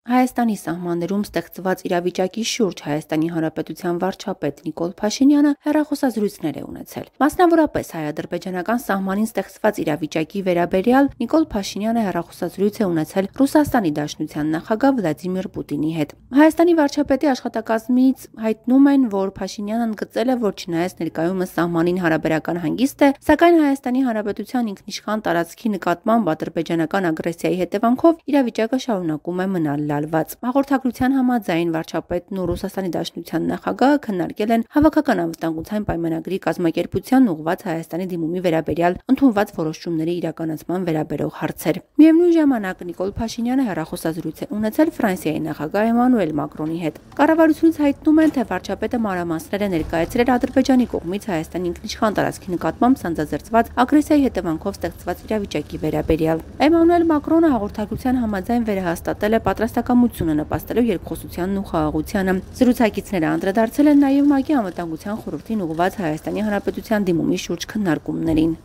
Հայաստանի սահմաններում ստեղծված իրավիճակի շուրջ Հայաստանի Հանրապետության վարչապետ Նիկոլ Փաշինյանը հեռախոսազրույցներ է ունեցել։ Մասնավորապես հայ-ադրբեջանական սահմանին ստեղծված իրավիճակի վերաբերյալ Նիկոլ Փաշինյանը հեռախոսազրույց է ունեցել Ռուսաստանի Դաշնության նախագահ Վլադիմիր Պուտինի հետ։ Հայաստանի վարչապետի աշխատակազմից հայտնում են, որ Փաշինյանն ընդգծել է, որ չնայած ներկայումս սահմանին հարաբերական հանգիստ է, սակայն Հայաստանի Հանրապետության ինքնիշխան տարածքի նկատմամբ ադրբեջանական ագրեսիայի հետևանքով իրավիճակը շարունակում է մնալ լալված։ Հաղորդագրության համաձայն վարչապետն ու Ռուսաստանի Դաշնության նախագահը քննարկել են հավաքական անվտանգության պայմանագրի կազմակերպության ուղղված Հայաստանի դիմումի վերաբերյալ ընդունված որոշումների իրականացման վերաբերող հարցեր։ Միևնույն ժամանակ Նիկոլ Փաշինյանը հեռախոսազրույց է ունեցել Ֆրանսիայի նախագահ Էմանուել Մակրոնի հետ։ Կառավարությունից հայտնում են, թե վարչապետը մանրամասներ է ներկայացրել Ադրբեջանի կողմից Հայաստանի ինքնիշխան տարածքի նկատմամբ սանձազերծված ագրեսիայի հետևանքով ստեղծված իրավիճակի վերաբերյալ։ Էմանուել Մակրոնը հաղորդագրության համաձայն վերահաստատել է պատրաստակամությունը նպաստելու երկխոսությանն ու խաղաղությանը։ Զրուցակիցները անդրադարձել են նաև ՄԱԿ-ի անվտանգության խորհրդին ուղղված Հայաստանի Հանրապետության դիմումի շուրջ քննարկումներին։